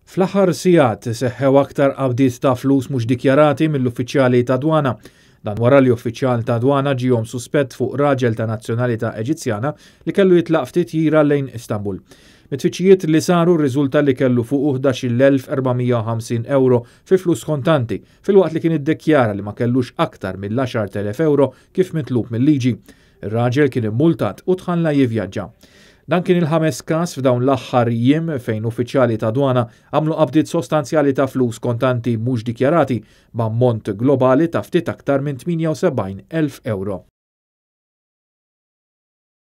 Fl-aħħar sigħat seħħew aktar qabdiet ta' flus mhux dikjarati mill-uffiċjali ta' dwana. Dan wara li uffiċjal ta' dwana ġihom suspett fuq raġel ta' nazzjonalità Eġizzjana li kellu jitlaq f'titjira lejn Istanbul. Mit-tfittxijiet li saru rriżulta li kellu fuq 11,450 euro fi flus kontanti, filwaqt li kien iddikjara li ma kellux aktar mill-10,000 euro kif mitlub mill-liġi. Ir-raġel kien immultat u tħalla jivvjaġġa. Dan kien il-ħames każ f'dawn l-aħħar jiem fejn uffiċjali ta' dwana għamlu qabdiet sostanzjali ta' flus kontanti mhux dikjarati b'ammont globali ta' ftit aktar minn 78,000 euro.